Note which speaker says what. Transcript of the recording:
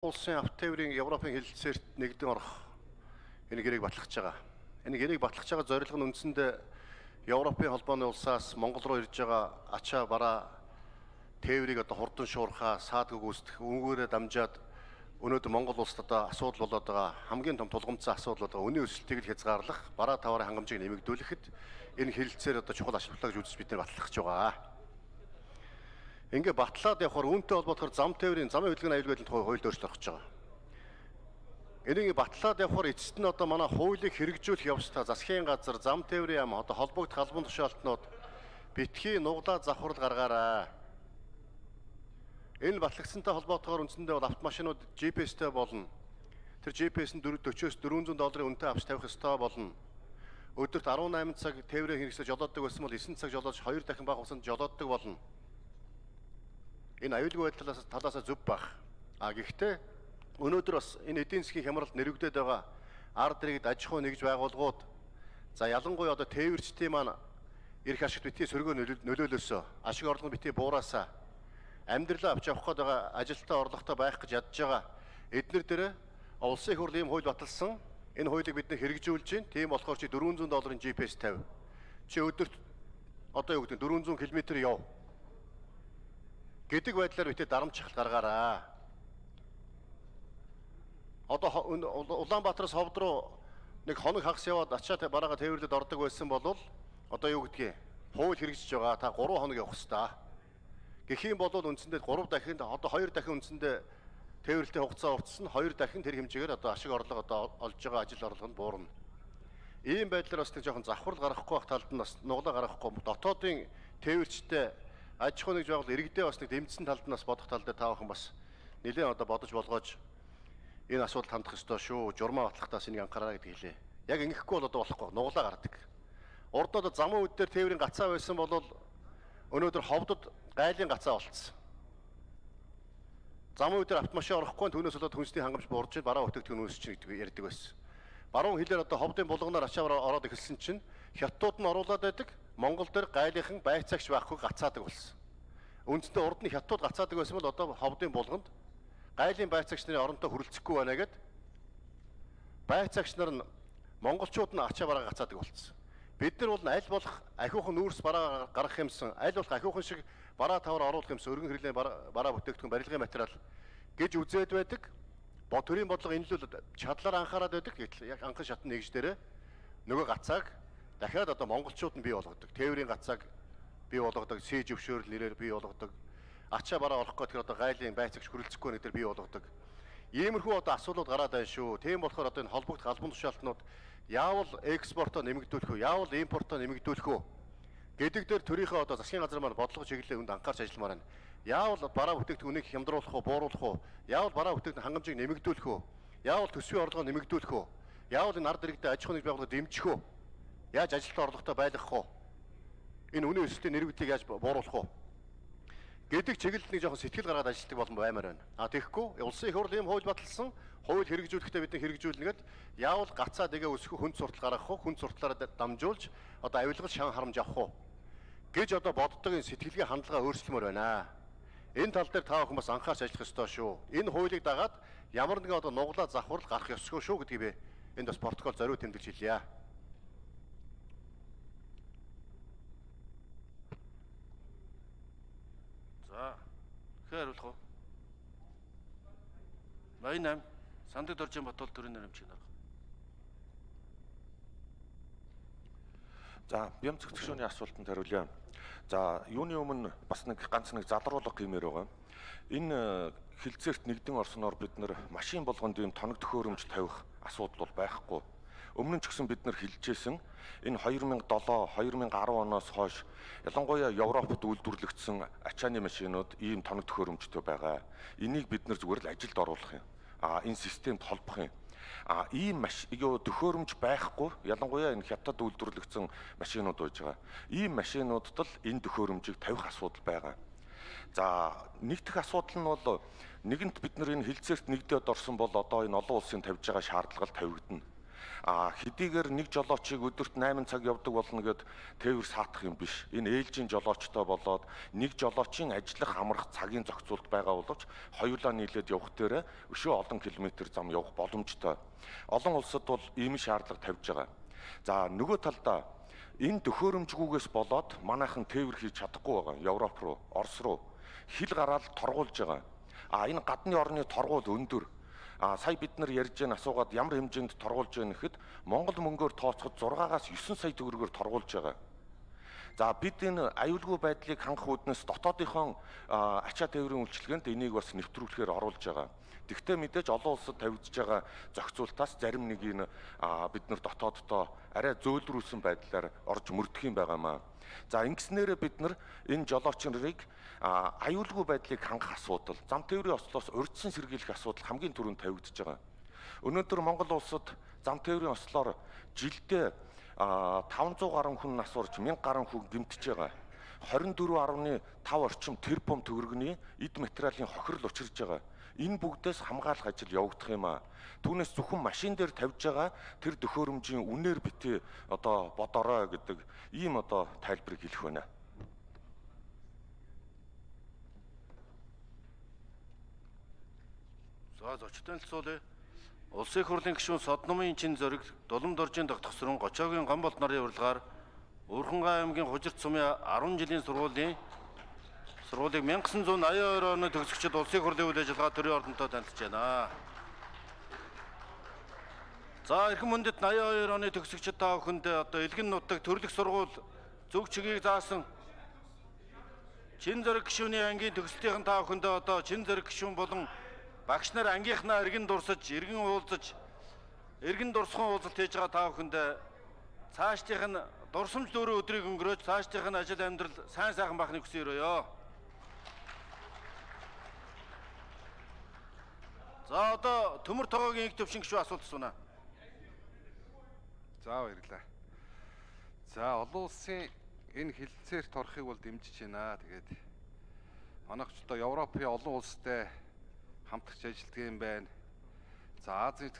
Speaker 1: Улсын авто тээврийн Европын хэлэлцээрт нэгдэн орох энэ гэрээг батлах байгаа. Энэ гэрээг батлах байгаа зорилго нь үндсэндээ Европын холбооны улсаас Монгол руу ирж байгаа ачаа бараа тээврийг хурдан шуурхаа саадгүй гүйцэтгэх үүгээрээ дамжаад өнөөдөр Монгол улсад асуудал болоод байгаа хамгийн том тулгымцсан асуудал байгаа үнийн өсөлтийг л хязгаарлах, бараа таврын хангамжийг нэмэгдүүлэхэд энэ хэлэлцээр чухал ач холбогдол үзэж бид нар батлах байгаа. Ингээ батлаад явахаар үүнтэй холбоотойгоор зам тээврийн замын хөдөлгөөний аюулгүй байдлын хууль өөрчлөлт орох гэж байгаа. Энийг батлаад явахаар эцэст нь манай хуулийг хэрэгжүүлэх явцдаа засгийн газар, зам тээврийн яам холбогдох албан тушаалтнууд битгий нуглаа завхрал гаргаарай. Энэ батлагдсантай холбоотойгоор үндсэндээ бол автомашинууд GPS-тэй болно. Тэр GPS нь $40-400 үнэтэй авч тавих ёстой болно. Өдөрт 18 цаг тээврийн хэрэгсэл жолооддог байсан бол 9 цаг жолоож 2 дахин бага хугацаанд жолооддог болно. Энэ аюулгүй байдлаас талаасаа зөв бах. Гэхдээ өнөөдөр бас энэ эдийн засгийн хямралд нэрвэгдээд байгаа ард иргэд аж ахуй нэгж байгууллагууд ялангуяа тээвэрчдийн маань эрх ашигт битгий сөргөө нөлөөлөөсөө ашиг орлого битгий буураасаа амьдралаа авч явах гээд байгаа ажилтаа орлоготой байх гэж ядж байгаа эднэр дээрээ улсын их хурлын хууль баталсан энэ хуулийг бид хэрэгжүүлж байна. Тийм болохоор чи $400 GPS тавь. Чи өдөрт юу гэдэг 400 км яв гэдэг байдлаар битээ дарамтчилт гаргаараа. Улаанбаатараас ховд руу нэг хоног хагас яваад ачаа бараага тээвэрлээд ордог байсан бол юу гэдгийг хууль хэрэгжиж байгаа. Та 3 хоног явах хэрэгтэй. Гэх юм бол үндсэндээ 3 дахин 2 дахин үндсэндээ тээвэрлэлтийн хугацаа уртсан 2 дахин тэр хэмжээгээр ашиг орлого олж байгаа ажил орлого нь буурна. Ийм байдлаар бас нэг жоохон завхрал гаргахгүй байх талд нь бас нуглаа гаргахгүй дотоодын тээвэрчтэй аж ахуй нэгж байгууллага иргэдээ бас нэг дэмжсэн талд нь бас бодох тал дээр та бүхэн бас нэлээд бодож болгоож энэ асуудалд хандах ёстой шүү. Журмаа батлахтаас энийг анхаараа гэдэг хэлээ. Яг ингэхгүй бол болохгүй нуглаа гардаг. Урд замын үд дээр тээврийн гацаа байсан бол өнөөдөр ховдод гайлын гацаа болцсон. Замын үд дээр автомашин орохгүй түүнээс болоод хүнсний хангамж буурж бараа өтөгдөх нөөс чинь гэдэг ярьдаг байсан. Баруун хэлээр ховдын булганаар ачаар ороод эхэлсэн чинь хятадууд нь оруулаад байдаг. Монгол дээр гайлынхан байцаагч байхгүй гацаадаг болсон. Үндсэндээ урд нь хятадууд гацаадаг байсан бол ховдын булганд гайлын байцаагч нарын оронтой хүрэлцэхгүй байна гэд байцаагч нар нь монголчууд нь ачаа бараа гацаадаг болсон. Бид нар бол аль болох ахиухан нүүрс бараа гаргах юмсан, аль болох ахиухан шиг бараа тавар оруулах юмсан, өргөн хэрэглээ бараа бүтээгдэхүүн барилгын материал гэж үзээд байдаг. Төрийн бодлого энэ л чадлаар анхаарад байдаг. Яг анхан шатны нэгж дээрээ нөгөө гацааг дахиад монголчууд нь бий болгодог. Тээврийн гацааг бий болгодог, сэж өвшөөрөл нэрээр бий болгодог. Ачаа бараа олох гэх тэр гайлын байцаагч хүрэлцэхгүй нэгдэр бий болгодог. Иймэрхүү асуудлууд гараад байна шүү. Тийм болохоор энэ холбогдох албан тушаалтнууд яавал экспортоо нэмэгдүүлэх үү, яавал импортоо нэмэгдүүлэх үү гэдэг дээр төрийнхөө засгийн газар маань бодлого чиглэлээ үнд анхаарч ажилламаар байна. Яавал бараа бүтээгдэхүүнийг хямдруулах уу, бууруулах уу, яавал бараа бүтээгдэхүүн хангамжийг нэмэгдүүлэх үү, яавал төсвийн орлогоо нэмэгдүүлэх үү, яавал энэ ард иргэдэд аж ахуй нэгж байгууллагыг дэмжих үү, яаж ажилтны орлоготой байлгах уу, энэ үнийн өсөлтийн нэрвэгдлийг яаж бууруулах уу гэдэг чиглэлд нэг жоохон сэтгэл гаргаад ажилладаг болон баймаар байна. Тэгэхгүй улсын их хурлын хууль баталсан хууль хэрэгжүүлэхдээ бид хэрэгжүүлнэгээд яавал гацаа дэгээ өсгөх хүн суртал гаргах уу, хүн сурталаараа дамжуулж авилгал шан харамж авах уу гэж боддог энэ сэтгэлгээ хандлага өөрчлөмөр байна. Энэ тал дээр та бүхэн бас анхаарч ажиллах ёстой шүү. Энэ хуулийг дагаад ямар нэгэн нуглаа завхрал гарах ёсгүй шүү гэдгийг энд бас протокол зориуд тэмдэглэж хэлье. За, хариулах уу? 88 Сандаг Доржин Батуул төрийн нэрмжиг нарах.
Speaker 2: За, бям цэгцгшөөний асуултанд хариулъя. За, юуны өмнө бас ганц нэг залруулга гэмээр байгаа. Энэ хэлцээрт нэгдэн орсноор бид нар машин болгонд ийм тоног төхөөрөмж тавих асуудал бол байхгүй. Өмнө нь ч гэсэн бид нар хэлжсэн энэ 2007, 2010 оноос хойш ялангуяа Европод үйлдвэрлэгдсэн ачааны машинууд ийм тоног төхөөрөмжтэй байгаа. Энийг бид нар зүгээр л ажилд оруулах юм. Энэ системд холбох юм. Ийм төхөөрөмж байхгүй ялангуяа энэ хятад үйлдвэрлэгдсэн машинууд байж байгаа. Ийм машинуудад л энэ төхөөрөмжийг тавих асуудал байгаа. За нэг дэх асуудал нь бол нэгэнт бид нар энэ хэлцээрт нэгдээд орсон бол энэ олон улсын тавьж байгаа шаардлага тавигдана. Хэдийгээр нэг жолоочийг өдөрт 8 цаг явдаг болно гэд тээвэр саатах юм биш. Энэ ээлжийн жолоочтой болоод нэг жолоочийн ажиллах амрах цагийн зохицуулт байгаа боловч хоёулаа нийлээд явах дээр өшөө олон километр зам явах боломжтой. Олон улсад бол ийм шаардлага тавьж байгаа. За нөгөө талдаа энэ төхөөрөмжгүйгээс болоод манайхан тээвэр хийж чадахгүй байгаа. Европ руу, Орос руу хил гараад торгуулж байгаа. Энэ гадны орны торгуул өндөр. Сая бид нар ярьж байгаа асуугаад ямар хэмжээнд торгуулж байгаа нэхэд Монгол мөнгөөр тооцоход 6-аас 9 сая төгрөгөөр торгуулж байгаа. За бид энэ аюулгүй байдлыг хангах үүднээс дотоодынхон ачаа тээврийн үйлчилгээнд энийг бас нэвтрүүлэхээр оруулж байгаа. Тэгвэл мэдээж олон улсад тавигдж байгаа зохицуултаас зарим нэг нь бид нар дотооддоо арай зөөлрүүлсэн байдлаар орж мөрдөх юм байгаамаа. За ингэснээрээ бид нар энэ жолооч нарыг аюулгүй байдлыг хангах асуудал, зам тээврийн ослоос урьдчилан сэргийлэх асуудал хамгийн түрүүнд тавигдж байгаа. Өнөөдөр Монгол улсад зам тээврийн ослоор жилдээ 500 гаруй хүн нас урж 1000 гаруй хүн гэмтэж байгаа. 24.5 орчим тэрбум төгрөгийн эд материалын хохирол учирж байгаа. Энэ бүгдээс хамгаалах ажил явагдах юм аа. Түүнээс зөвхөн машин дээр тавьж байгаа тэр төхөөрөмжийн үнээр битээ одоо бодорой гэдэг ийм одоо тайлбарыг хэлэх байна.
Speaker 1: За зочдын хэлцүүлээ. Улсын их хурлын гишүүн Содномын чин зөриг Дулам доржийн дахь тосрон Гочоогийн Гамболт нарын урилгаар Уурхангай аймгийн Хужирт сумын 10 жилийн сургуулийг 1982 оны төгсөгчид улсын их хурлын үйл ажиллагаа төрийн ордонтой танилцж байна. За эрхэм хүндэт 82 оны төгсөгчид та бүхэнд одоо Элгэн нутаг төрлөх сургууль зөв чигийг заасан чин зөриг гишүүний ангийн төгсөлтийн та бүхэнд одоо чин зөриг гишүүн болон багш нар ангийнхнаа эргэн дурсаж, эргэн уулзаж, эргэн дурсхан уулзалт хийж байгаа та бүхэнд цаашдынх нь дурсамж дөрөв өдрийг өнгөрөөж цаашдынх нь ажил амьдрал сайн сайхан бахныг хүсэн өрөөё. За одоо төмөр тогоогийн их төвшин гишүүн асуулт асууна.
Speaker 3: За баярлалаа. За олон улсын энэ хилцээрт орохыг бол дэмжиж байна. Тэгээд манайх ч одоо Европын олон улстай хамтарч ажилладаг юм байна. За Азийн